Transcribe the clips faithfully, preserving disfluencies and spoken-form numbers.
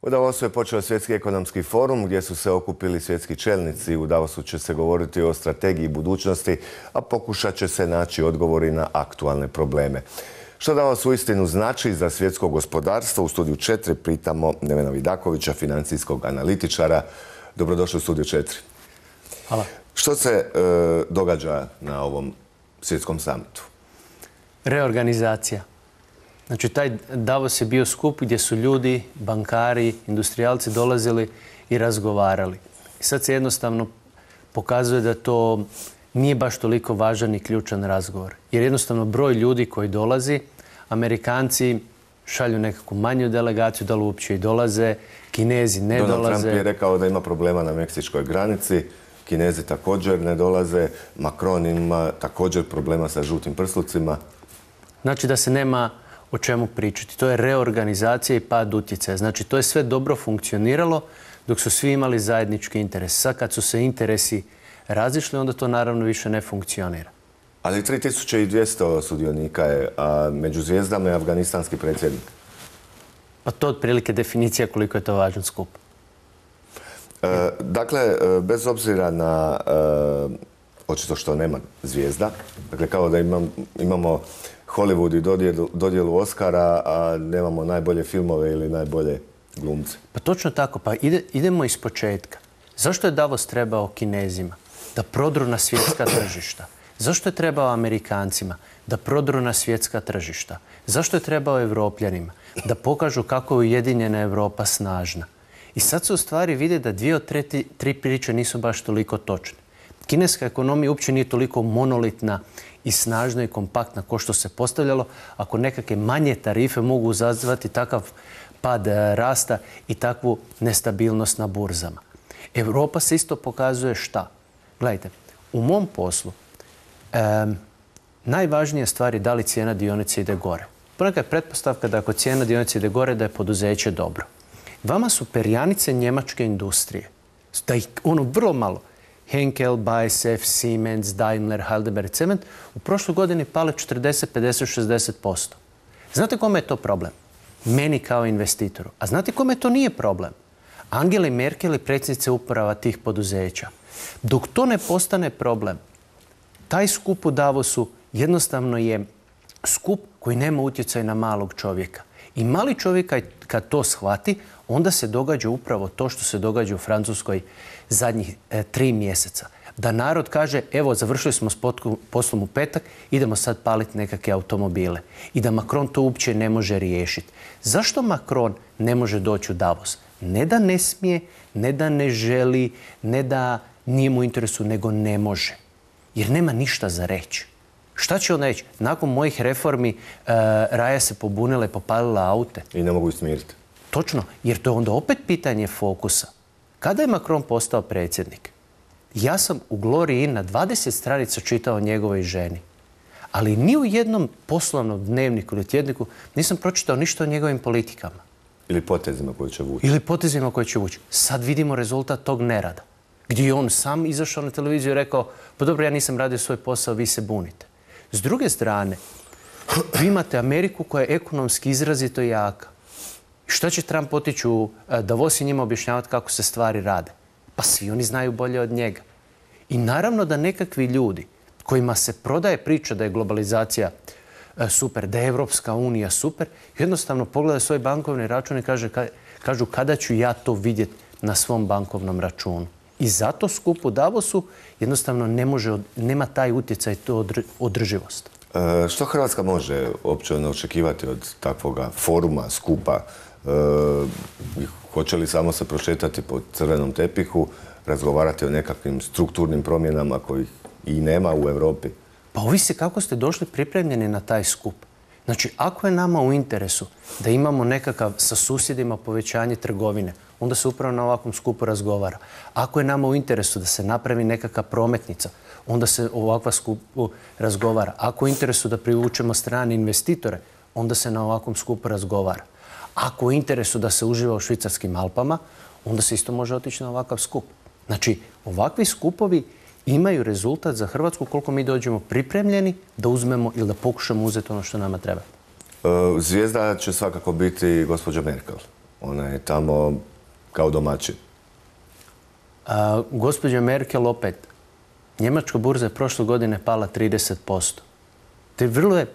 U Davosu je počeo svjetski ekonomski forum gdje su se okupili svjetski čelnici. U Davosu će se govoriti o strategiji budućnosti, a pokušat će se naći odgovori na aktualne probleme. Što Davos uistinu znači za svjetsko gospodarstvo? U studiju četiri pitamo Nevena Vidakovića, financijskog analitičara. Dobrodošli u studiju četiri. Hvala. Što se e, događa na ovom svjetskom samitu? Reorganizacija. Znači, taj Davos je bio skup gdje su ljudi, bankari, industrijalci dolazili i razgovarali. I sad se jednostavno pokazuje da to nije baš toliko važan i ključan razgovor. Jer jednostavno broj ljudi koji dolazi, Amerikanci šalju nekakvu manju delegaciju, da li uopće i dolaze, Kinezi ne Donald dolaze. Trump je rekao da ima problema na meksičkoj granici, Kinezi također ne dolaze, Macron ima također problema sa žutim prslucima. Znači da se nema o čemu pričati. To je reorganizacija i pad utjecaja. Znači, to je sve dobro funkcioniralo dok su svi imali zajednički interes. Sad kad su se interesi razišli, onda to naravno više ne funkcionira. Ali tri tisuće dvjesto sudionika je, a među zvijezdama je afganistanski predsjednik. Pa to je otprilike definicija koliko je to važan skup. E, dakle, bez obzira na e, očito što nema zvijezda, dakle kao da imam, imamo Hollywood i dodjelu, dodjelu Oscara, a nemamo najbolje filmove ili najbolje glumce. Pa točno tako. Pa ide, idemo iz početka. Zašto je Davos trebao Kinezima? Da prodru na svjetska tržišta. Zašto je trebao Amerikancima? Da prodru na svjetska tržišta. Zašto je trebao Evropljanima? Da pokažu kako je ujedinjena Europa snažna. I sad se u stvari vide da dvije od tri, tri priče nisu baš toliko točne. Kineska ekonomija uopće nije toliko monolitna i snažna i kompaktna kao što se postavljalo, ako nekakve manje tarife mogu izazvati takav pad rasta i takvu nestabilnost na burzama. Europa se isto pokazuje šta? Gledajte, u mom poslu e, najvažnija stvar je da li cijena dionice ide gore. Ponekad je pretpostavka da ako cijena dionice ide gore, da je poduzeće dobro. Vama su perjanice njemačke industrije. Da ih ono vrlo malo. Henkel, B A S F, Siemens, Daimler, Heidelberg Cement u prošloj godini pale četrdeset, pedeset, šezdeset posto. Znate kome je to problem? Meni kao investitoru. A znate kome to nije problem? Angeli Merkel i predsjednice uprava tih poduzeća. Dok to ne postane problem, taj skup u Davosu jednostavno je skup koji nema utjecaj na malog čovjeka. I mali čovjek kad to shvati, onda se događa upravo to što se događa u Francuskoj zadnjih e, tri mjeseca. Da narod kaže, evo, završili smo s poslom u petak, idemo sad paliti nekakve automobile. I da Macron to uopće ne može riješiti. Zašto Macron ne može doći u Davos? Ne da ne smije, ne da ne želi, ne da nije mu u interesu, nego ne može. Jer nema ništa za reći. Šta će on reći? Nakon mojih reformi e, Raja se pobunila i popalila aute. I ne mogu smiriti. Točno, jer to je onda opet pitanje fokusa. Kada je Macron postao predsjednik? Ja sam u Gloriji na dvadeset stranica čitao njegovoj ženi. Ali ni u jednom poslovnom dnevniku ili tjedniku nisam pročitao ništa o njegovim politikama. Ili potezima koje će vući. Ili potezima koje će vući. Sad vidimo rezultat tog nerada. Gdje je on sam izašao na televiziju i rekao, pa dobro, ja nisam radio svoj posao, vi se bunite. S druge strane, vi imate Ameriku koja je ekonomski izrazito jaka. Šta će Trump otići u Davos i njima objašnjavati kako se stvari rade? Pa svi oni znaju bolje od njega. I naravno da nekakvi ljudi kojima se prodaje priča da je globalizacija super, da je Evropska unija super, jednostavno pogledaju svoj bankovni račun i kaže, kažu kada ću ja to vidjeti na svom bankovnom računu. I zato skup u Davosu jednostavno ne može, nema taj utjecaj, to održivost. E, što Hrvatska može uopće očekivati od takvoga foruma, skupa? E, hoće li samo se prošetati po crvenom tepihu, razgovarati o nekakvim strukturnim promjenama kojih i nema u Europi? Pa ovisi kako ste došli pripremljeni na taj skup. Znači, ako je nama u interesu da imamo nekakav sa susjedima povećanje trgovine, onda se upravo na ovakvom skupu razgovara. Ako je nama u interesu da se napravi nekakva prometnica, onda se ovakva skupu razgovara. Ako je u interesu da privučemo strane investitore, onda se na ovakvom skupu razgovara. Ako je u interesu da se uživa u švicarskim Alpama, onda se isto može otići na ovakav skup. Znači, ovakvi skupovi imaju rezultat za Hrvatsku koliko mi dođemo pripremljeni da uzmemo ili da pokušamo uzeti ono što nama treba. Zvijezda će svakako biti gospođa Merkel. Ona je tamo kao domaćin. A, gospođa Merkel opet. Njemačka burza je prošle godine pala trideset posto. Te vrlo je,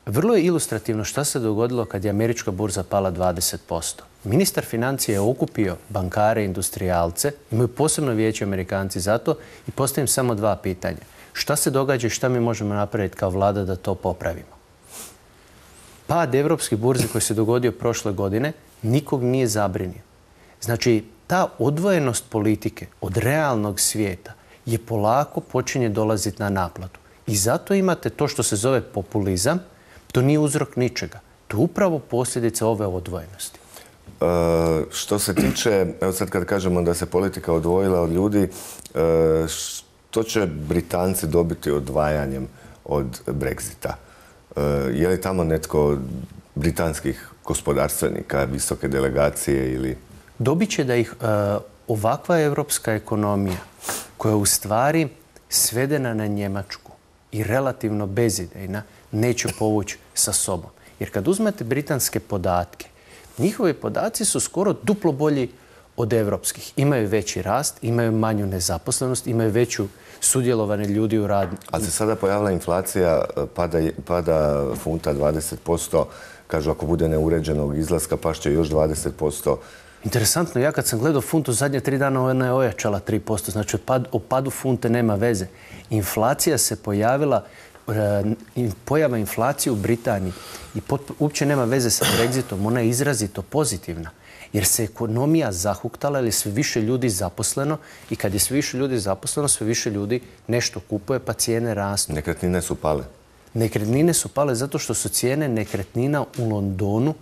vrlo je ilustrativno šta se dogodilo kad je američka burza pala dvadeset posto. Ministar financija je okupio bankare i industrijalce, imaju posebno vijeće Amerikanci za to i postavim samo dva pitanja. Šta se događa i šta mi možemo napraviti kao vlada da to popravimo? Pad evropskih burzi koji se dogodio prošle godine nikog nije zabrinio. Znači, ta odvojenost politike od realnog svijeta je polako počinje dolaziti na naplatu. I zato imate to što se zove populizam, to nije uzrok ničega. To je upravo posljedica ove odvojenosti. E, što se tiče, evo sad kad kažemo da se politika odvojila od ljudi, e, što će Britanci dobiti odvajanjem od Brexita? E, je li tamo netko od britanskih gospodarstvenika, visoke delegacije ili... Dobit će da ih e, ovakva evropska ekonomija koja je u stvari svedena na Njemačku i relativno bezidejna, neće povući sa sobom. Jer kad uzmete britanske podatke, njihovi podaci su skoro duplo bolji od evropskih. Imaju veći rast, imaju manju nezaposlenost, imaju veću sudjelovanje ljudi u radu. Ali se sada pojavila inflacija, pada, pada funta dvadeset posto, kažu ako bude neuređenog izlaska pašće još dvadeset posto. Interesantno, ja kad sam gledao funtu zadnje tri dana, ona je ojačala tri posto. Znači, pad, o padu funte nema veze. Inflacija se pojavila, pojava inflacije u Britaniji i uopće nema veze sa Brexitom. Ona je izrazito pozitivna. Jer se ekonomija zahuktala, jer je sve više ljudi zaposleno i kad je sve više ljudi zaposleno, sve više ljudi nešto kupuje, pa cijene rastu. Nekretnine su pale. Nekretnine su pale zato što su cijene nekretnina u Londonu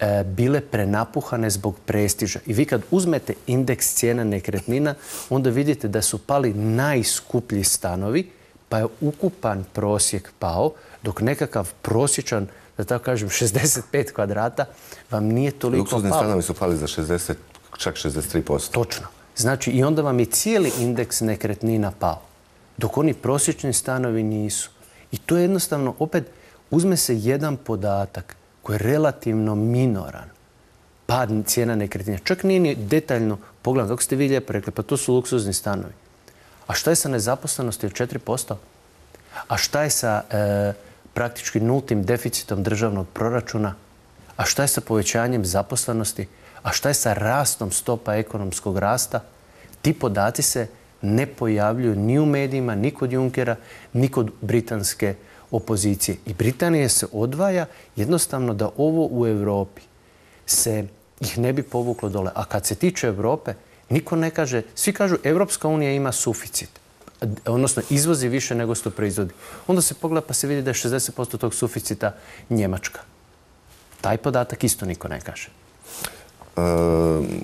e, bile prenapuhane zbog prestiža. I vi kad uzmete indeks cijena nekretnina, onda vidite da su pali najskuplji stanovi, pa je ukupan prosjek pao, dok nekakav prosječan, da tako kažem, šezdeset pet kvadrata vam nije toliko Luksuzni pao. stanovi su pali za šezdeset, čak šezdeset tri posto. Točno. Znači, i onda vam je cijeli indeks nekretnina pao, dok oni prosječni stanovi nisu. I to je jednostavno, opet, uzme se jedan podatak koji je relativno minoran. Pad cijena nekretnina. Čak nije ni detaljno pogledano, kako ste vi lijepo rekli, pa to su luksuzni stanovi. A šta je sa nezaposlenosti od četiri posto? A šta je sa e, praktički nultim deficitom državnog proračuna? A šta je sa povećanjem zaposlenosti? A šta je sa rastom stopa ekonomskog rasta? Ti podaci se ne pojavljuju ni u medijima, ni kod Junckera, ni kod britanske opozicije. I Britanija se odvaja jednostavno da ovo u Europi se ih ne bi povuklo dole. A kad se tiče Europe, niko ne kaže, svi kažu Evropska unija ima suficit, odnosno izvozi više nego što proizvodi. Onda se pogleda pa se vidi da je šezdeset posto tog suficita Njemačka. Taj podatak isto niko ne kaže. E,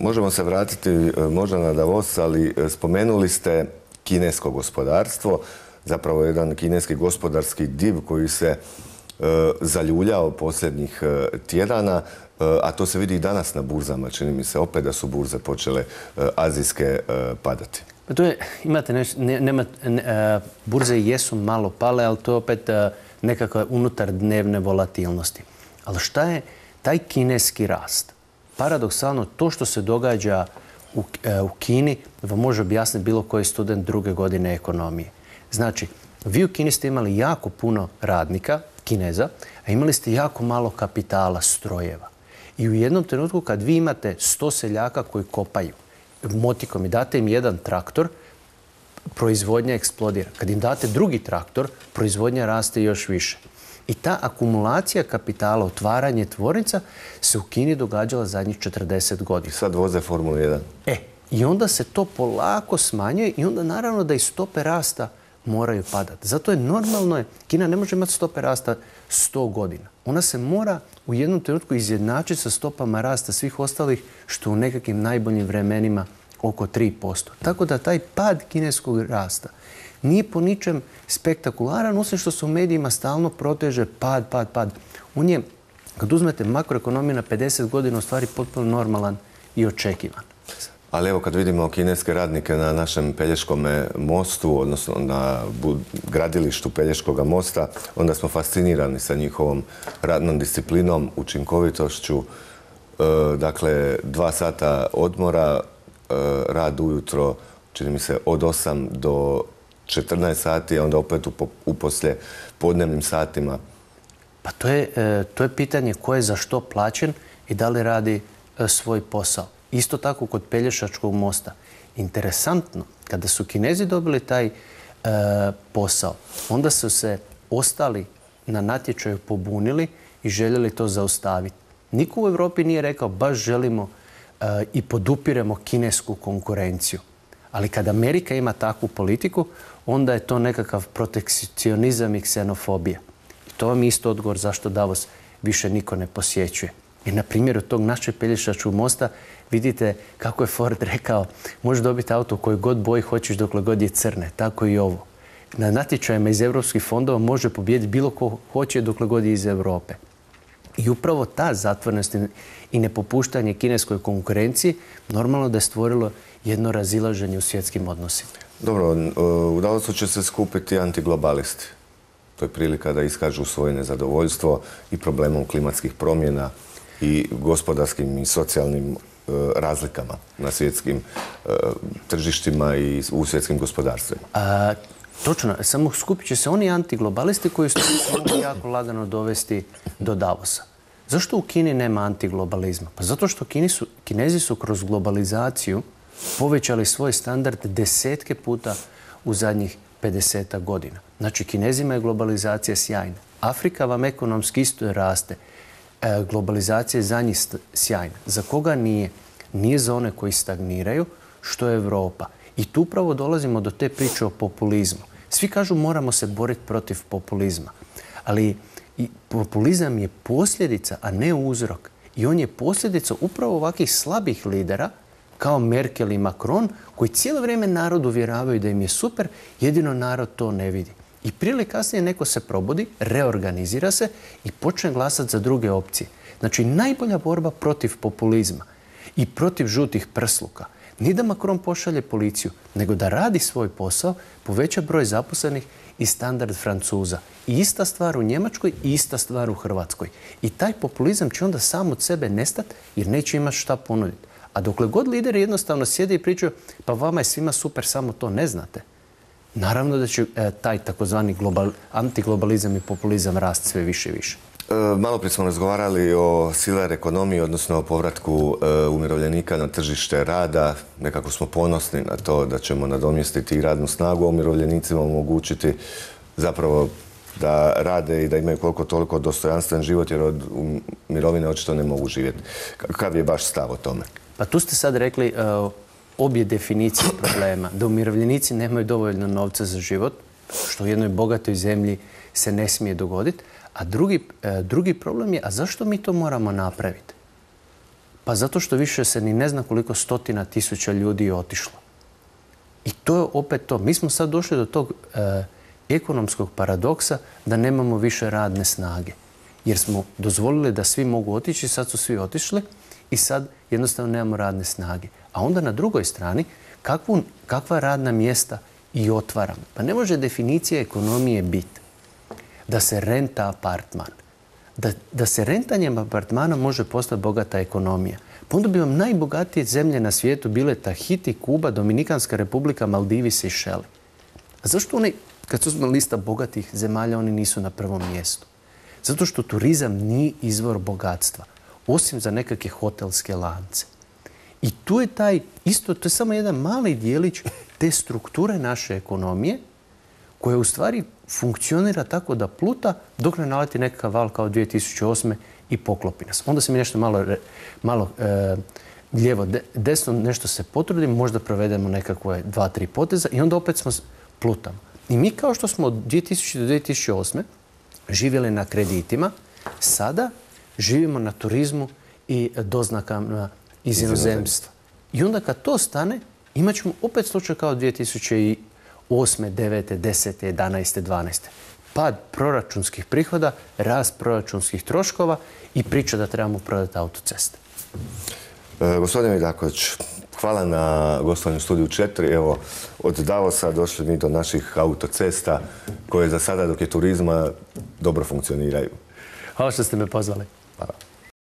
možemo se vratiti možda na Davos, ali spomenuli ste kinesko gospodarstvo, zapravo jedan kineski gospodarski div koji se e, zaljuljao posljednjih e, tjedana, e, a to se vidi i danas na burzama. Čini mi se opet da su burze počele e, azijske e, padati. Pa to je, imate nešto, ne, nema, ne, e, burze jesu malo pale, ali to je opet e, nekakva unutar dnevne volatilnosti. Ali šta je taj kineski rast? Paradoksalno, to što se događa u, e, u Kini vam može objasniti bilo koji student druge godine ekonomije. Znači, vi u Kini ste imali jako puno radnika, Kineza, a imali ste jako malo kapitala, strojeva. I u jednom trenutku kad vi imate sto seljaka koji kopaju motikom i date im jedan traktor, proizvodnja eksplodira. Kad im date drugi traktor, proizvodnja raste još više. I ta akumulacija kapitala, otvaranje tvornica se u Kini događala zadnjih četrdeset godina. I sad voze Formulu jedan. E, i onda se to polako smanjuje i onda naravno da i stope rasta moraju padati. Zato je normalno, je, Kina ne može imati stope rasta sto godina. Ona se mora u jednom trenutku izjednačiti sa stopama rasta svih ostalih, što u nekakvim najboljim vremenima oko tri posto. Tako da taj pad kineskog rasta nije po ničem spektakularan, osim što se u medijima stalno proteže pad, pad, pad. On je, kad uzmete makroekonomiju na pedeset godina, u stvari potpuno normalan i očekivan. Ali evo kad vidimo kineske radnike na našem Pelješkom mostu, odnosno na gradilištu Pelješkog mosta, onda smo fascinirani sa njihovom radnom disciplinom, učinkovitošću. dakle, dva sata odmora, rad ujutro, čini mi se, od osam do četrnaest sati, a onda opet u poslije podnevnim satima. Pa to je, to je pitanje ko je za što plaćen i da li radi svoj posao. Isto tako kod Pelješačkog mosta. Interesantno, kada su Kinezi dobili taj e, posao, onda su se ostali na natječaju pobunili i željeli to zaustaviti. Niko u Europi nije rekao baš želimo e, i podupiremo kinesku konkurenciju. Ali kad Amerika ima takvu politiku, onda je to nekakav protekcionizam i ksenofobija. I to vam je isto odgovor zašto Davos više niko ne posjećuje. Jer na primjeru tog našeg Pelješačkog mosta vidite kako je Ford rekao možeš dobiti auto u kojoj god boji hoćeš dokle god je crne. Tako i ovo. Na natječajima iz europskih fondova može pobijediti bilo ko hoće dokle god je iz Europe. I upravo ta zatvorenost i nepopuštanje kineskoj konkurenciji normalno da je stvorilo jedno razilaženje u svjetskim odnosima. Dobro, u Davosu će se skupiti antiglobalisti. To je prilika da iskažu svoje nezadovoljstvo i problemom klimatskih promjena i gospodarskim i socijalnim e, razlikama na svjetskim e, tržištima i u svjetskim gospodarstvima. A, točno, samo skupit će se oni antiglobalisti koji su mogu jako lagano dovesti do Davosa. Zašto u Kini nema antiglobalizma? Pa zato što Kini su, Kinezi su kroz globalizaciju povećali svoj standard desetke puta u zadnjih pedesetak godina. Znači, Kinezima je globalizacija sjajna. Afrika vam ekonomski isto raste. E, globalizacija je za njih sjajna. Za koga nije? Nije za one koji stagniraju, što je Europa. I tu upravo dolazimo do te priče o populizmu. Svi kažu moramo se boriti protiv populizma. Ali i populizam je posljedica, a ne uzrok. I on je posljedica upravo ovakvih slabih lidera kao Merkel i Macron, koji cijelo vrijeme narod uvjeravaju da im je super, jedino narod to ne vidi. I prije ili kasnije neko se probudi, reorganizira se i počne glasati za druge opcije. Znači, najbolja borba protiv populizma i protiv žutih prsluka nije da Macron pošalje policiju, nego da radi svoj posao, poveća broj zaposlenih i standard Francuza. I ista stvar u Njemačkoj i ista stvar u Hrvatskoj. I taj populizam će onda sam od sebe nestati jer neće imati šta ponuditi. A dokle god lideri jednostavno sjede i pričaju pa vama je svima super, samo to ne znate, naravno da će e, taj takozvani global, antiglobalizam i populizam rasti sve više i više. E, malo prije smo razgovarali o siler ekonomiji, odnosno o povratku e, umirovljenika na tržište rada. Nekako smo ponosni na to da ćemo nadomjestiti radnu snagu, a umirovljenicima omogućiti zapravo da rade i da imaju koliko toliko dostojanstven život, jer od mirovine očito ne mogu živjeti. Kakav je baš stav o tome? Pa tu ste sad rekli uh, obje definicije problema. Da umirovljenici nemaju dovoljno novca za život, što u jednoj bogatoj zemlji se ne smije dogoditi. A drugi, uh, drugi problem je, a zašto mi to moramo napraviti? Pa zato što više se ni ne zna koliko stotina tisuća ljudi je otišlo. I to je opet to. Mi smo sad došli do tog uh, ekonomskog paradoksa da nemamo više radne snage. Jer smo dozvolili da svi mogu otići, sad su svi otišli i sad jednostavno nemamo radne snage. A onda na drugoj strani kakvu, kakva radna mjesta i otvaramo. Pa ne može definicija ekonomije biti da se renta apartman. Da, da se rentanjem apartmana može postati bogata ekonomija. Pa onda bi vam najbogatije zemlje na svijetu bile Tahiti, Kuba, Dominikanska republika, Maldivi, Sejšeli. A zašto oni, kad su na lista bogatih zemalja, oni nisu na prvom mjestu? Zato što turizam nije izvor bogatstva, osim za nekakve hotelske lance. I tu je taj, isto, to je samo jedan mali dijelić te strukture naše ekonomije koja u stvari funkcionira tako da pluta dok ne naleti nekakav val kao dvije tisuće osme i poklopi nas. Onda se mi nešto malo, malo e, lijevo, de, desno, nešto se potrudimo, možda provedemo nekakve dva, tri poteza i onda opet smo plutamo. I mi kao što smo od dvije tisućite do dvije tisuće osme živjeli na kreditima, sada živimo na turizmu i doznakama iz inozemstva. I onda kad to stane, imat ćemo opet slučaj kao dvije tisuće osme, devete, desete, jedanaeste, dvanaeste. Pad proračunskih prihoda, rast proračunskih troškova i priča da trebamo prodati autoceste. E, gospodine Vidaković, hvala na gostovanju Studiju četiri. Evo, od Davosa došli mi do naših autocesta koje za sada, dok je turizma, dobro funkcioniraju. Hvala što ste me pozvali. Hvala.